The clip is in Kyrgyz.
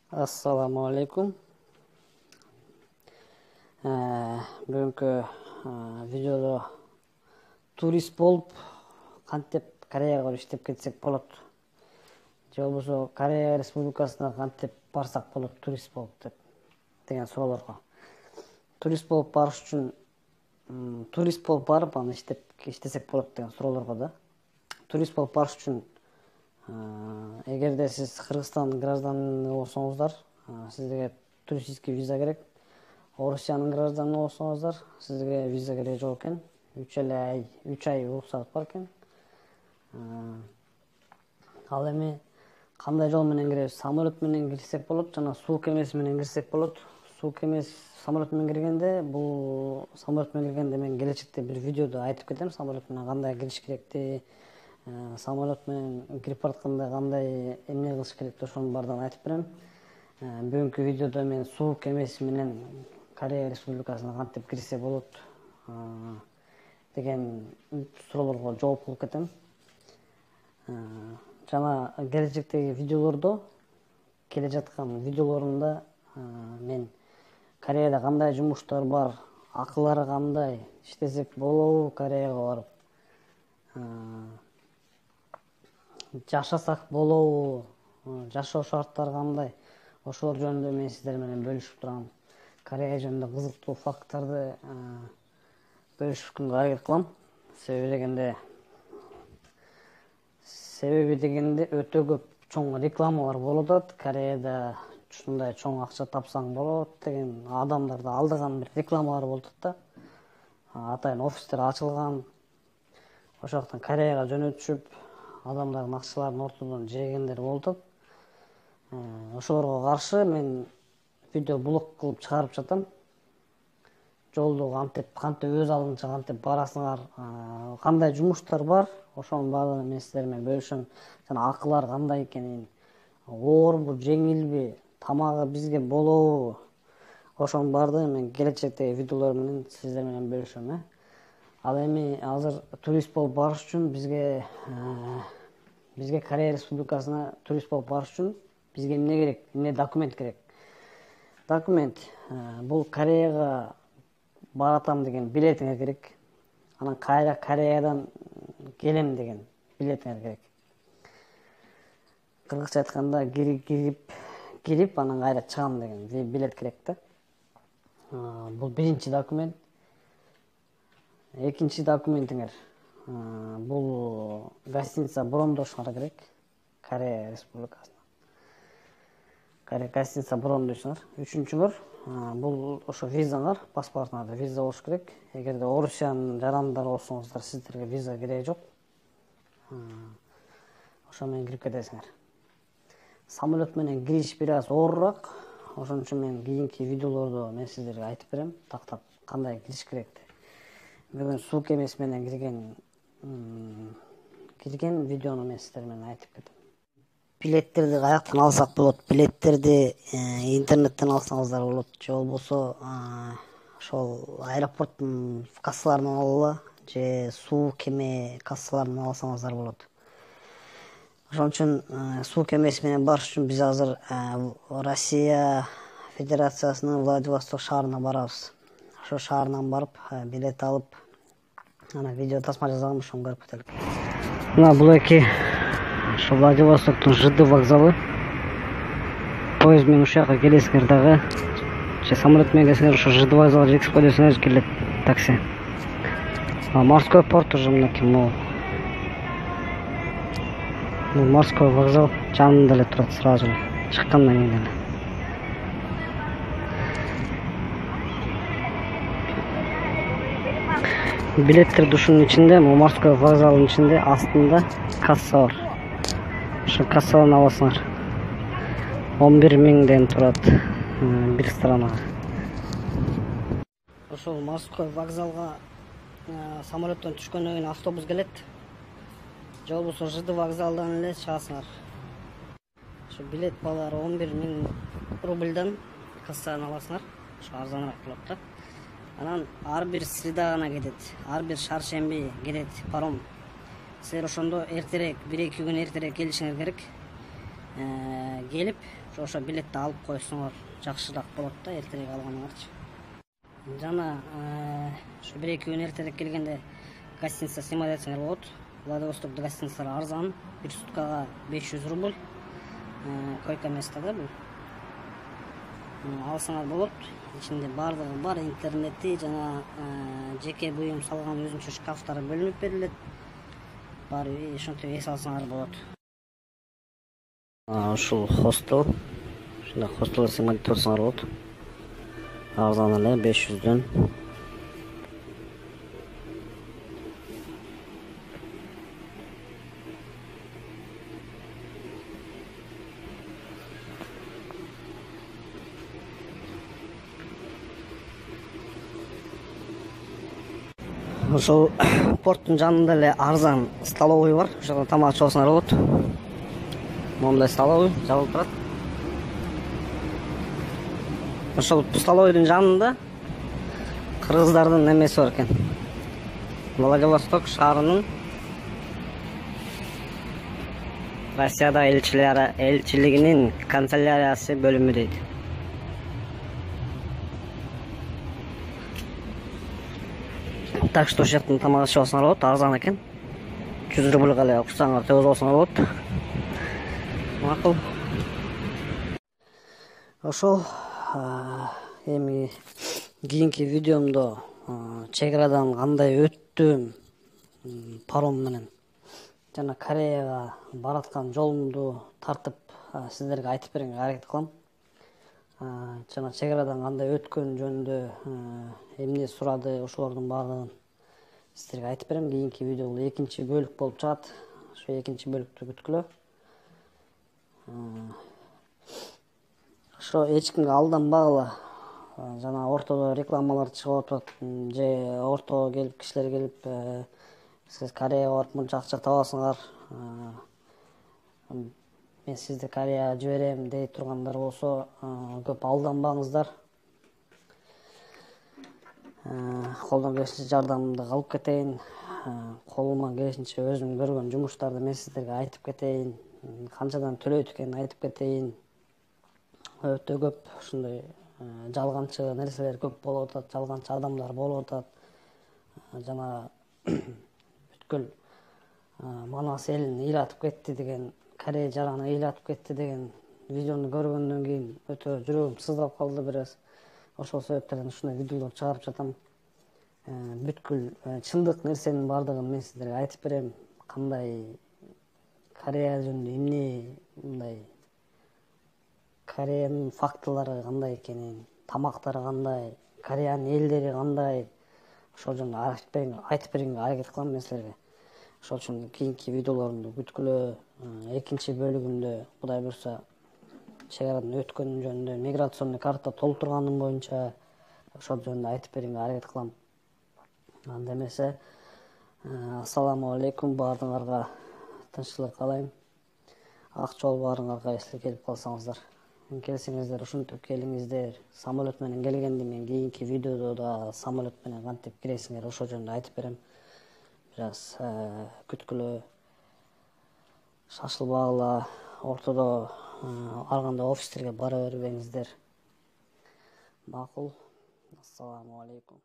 Assalamu alaikum. Бүгүнкү видеодо турист болуп кантип Кореяга барып иштеп кетсек болот? Же болбосо Корея Республикасына кантип барсак болот турист болуп деген суроолорго. Турист болуп барыш үчүн турист болуп барып аны иштесек болот деген суроолорго да. Турист болуп барыш үчүн эгерде сиз Кыргызстан гражданы болсоңуздар, сизге туристический виза керек. Орусиянын гражданы болсоңуздар, сизге виза керек жок экен. 3 ай уруксат бар экен. Ал эми кандай жол менен киребиз? Самолет менен кирсек болот жана суу кемеси менен кирсек болот. Суу кемеси самолет менен киргенде, мен келечекте бир видеодо айтып кетем, самолет менен кандай кириш керекти, самолет менен кирип баратканда кандай эмне кылыш керекти, ошонун баардыгын айтып берем. Бүгүнкү видеодо мен суу кемеси менен Корея Республикасына кантип кирсе болот деген суроолорго жооп кылып кетем. Жана келечектеги видеолордо, келе жаткан видеолорумда мен Кореяда кандай жумуштар бар, акылары кандай, иштесек болобу Кореяга барып, жашасак болобу, жашоо шарттары кандай, ошолор жөнүндө мен сиздер менен бөлүшүп турам. Корея жөнүндө кызыктуу факттарды бөлүшкөнгө аракет кылам. Себеби дегенде өтө көп чоң рекламалар болуп атат. Кореяда ушундай чоң акча тапсаң болот деген адамдарды алдаган бир рекламалар болуп атат да. Атайын офистер ачылган. Ошол жактан Кореяга жөнөтүшүп, адамдардын акчаларын ортодон жегендер болуп атат. Ошолорго каршы мен видеоблог кылып чыгарып жатам. Жолду кантип өз алдынча кантип барасыңар, кандай жумуштар бар, ошонун баардыгын мен сиздер менен бөлүшөм. Жана акылар кандай экенин, оорбу, жеңилби, тамагы бизге болобу, ошонун баардыгын мен келечектеги видеолор менен сиздер менен бөлүшөм. Ал эми азыр турист болуп барыш үчүн бизге Корея Республикасына турист болуп барыш үчүн бизге эмне керек? Эмне документ керек? Документ бул Кореяга баратам деген билетиңер керек. Анан кайра Кореядан келем деген билетиңер керек. Кыргызча айтканда кирип анан кайра чыгам деген билет керек да. Бул биринчи документ. Экинчи документиңер бул гостиница брондошуңар керек. Корея Республикасына гостиница брондойсуңар. Үчүнчүңөр бул ошо визаңар, паспортуңарда виза болуш керек. Эгерде Орусиянын жарандары болсоңуздар, сиздерге виза кереги жок. Ошо менен кирип кетесиңер. Самолет менен кириш бир аз оорураак. Ошон үчүн мен кийинки видеолордо мен сиздерге айтып берем, тактап кандай кириш керекти. Бүгүн суу кемеси менен кирген видеону мен сиздер менен айтып кетем. Билеттерди каяктан алсак болот? Билеттерди интернеттен алсаңыздар болот, же болбосо ошол аэропорттун кассаларынан алалы, же суу кеме кассаларынан алсаңыздар болот. Ошон үчүн суу кемеси менен барыш үчүн биз азыр Россия Федерациясынын Владивосток шаарына барабыз. Ошо шаарынан барып билет алып, ана видео тасма жазгам, ошону көрүп кетелик. Мына бул эки ошо Владивостоктун ЖД вокзалы. Поезд менен ушул жака келесиңер дагы, же самолет менен келсеңер ошо ЖД вокзалга жетип койдусуңар, келет такси. Морской порт уже мынакей могул. Морской вокзал жанында эле турат, сразу эле чыккандан кийин эле. Билеттерди ушунун ичинде, морской вокзалдын ичинде астында касса бар. Ошо кассадан аласыңар. 11 миңден турат бир странага. Ошол морской вокзалга самолеттен түшкөндөн кийин автобус келет. Же болбосо ЖД вокзалдан эле чыгасыңар. Ошо билет баалары 11 миң рубльдан кассадан аласыңар. Ошо арзаныраак болот да. Анан ар бир среда гана кетет, ар бир шаршемби кетет паром. Силер ошондо эртерээк, 1-2 күн эртерээк келишиңер керек. келип ошо билетти алып койсоңор жакшыраак болот да, эртерээк алганыңарчы. Жана ушу 1-2 күн эртерээк келгенде гостиница сыймай жатсаңар болот. Владивостокто гостиницалар арзан, 1 суткага 500 рубль. Койка место да бул. Алсаңар болот. Ичинде бардыгы бар, интернети жана жеке буюм салган өзүнчө шкафтары бөлүнүп берилет. Баары ошентип эс алсаңар болот. Ушул хостел. Ушундай хостелге сыймай турсаңар болот. Арзан эле 500дөн. Ошол порттун жанында эле арзан столовый бар. Ошол тамак ичип алсаңар болот. Мондай столовый жабылып турат. Ошол столовыйдун жанында кыргыздардын немеси бар экен. Владивосток шаарынын Россияда элчилигинин канцеляриясы бөлүмү дейт. Так что ошол жактан тамак ичип алсаңар болот, арзан экен. 100 рубльга эле уксаңар төзүп алсаңар болот. Макул. Ошол эми кийинки видеомдо чек арадан кандай өттүм паром менен жана Кореяга бараткан жолумду тартып сиздерге айтып берүүгө аракет кылам. Жана чек арадан кандай өткөн жөнүндө эмне сурады, ошолордун баардыгын сиздерге айтып берем. Кийинки видео бул 2-чи бөлүк болуп чыгат. Ошо 2-чи бөлүктү күткүлө. Ошо эч кимге алданбагыла. Жана ортодо рекламалар чыгып атат, же ортого келип кишилер келип сиз Кореяга барып мынча акча табасыңар, мен сизди Кореяга жиберем дей тургандар болсо көп алданбаңыздар. Колдон келишинче жардамымды кылып кетейин. Колуман келишинче өзүм көргөн жумуштарды мен сиздерге айтып кетейин. Канчадан төлөйт экенин айтып кетейин. Өтө көп ушундай жалганчы нерселер көп болуп атат, жалганчы адамдар болуп атат. Жана бүткүл Манас элин ыйлатып кетти деген, Корея жараны ыйлатып кетти деген видеону көргөндөн кийин өтө жүрөгүм сыздап калды бир аз. Ошол себептерден ушундай видеолор чыгарып жатам. Бүткүл чындык нерсенин баардыгын мен сиздерге айтып берем. Кандай Корея жөнүндө эмне, мындай Кореянын фактылары кандай экенин, тамактары кандай, Кореянын элдери кандай, ошол жөнүндө айтып берүүгө аракет кылам мен силерге. Ошол үчүн кийинки видеолорумду күткүлө. 2-чи бөлүгүндө Кудай буйрса чек арадан өткөнүм жөнүндө, миграционный карта толтурганым боюнча ошол жөнүндө айтып берүүгө аракет кылам. Анда эмесе, ассаламу алейкум, баардыгыңарга тынччылык каалайм. Ак жол баарыңарга эсле келип калсаңыздар. Келсеңиздер ушинтип келиңиздер. Самолет менен келгенди мен кийинки видеодо да самолет менен кантип киресиңер ошол жөнүндө айтып берем. Бир аз күткүлө. Шашылбагыла, ортодо ар кандай офистерге бара бербеңиздер. Макул. Ассаламу алейкум.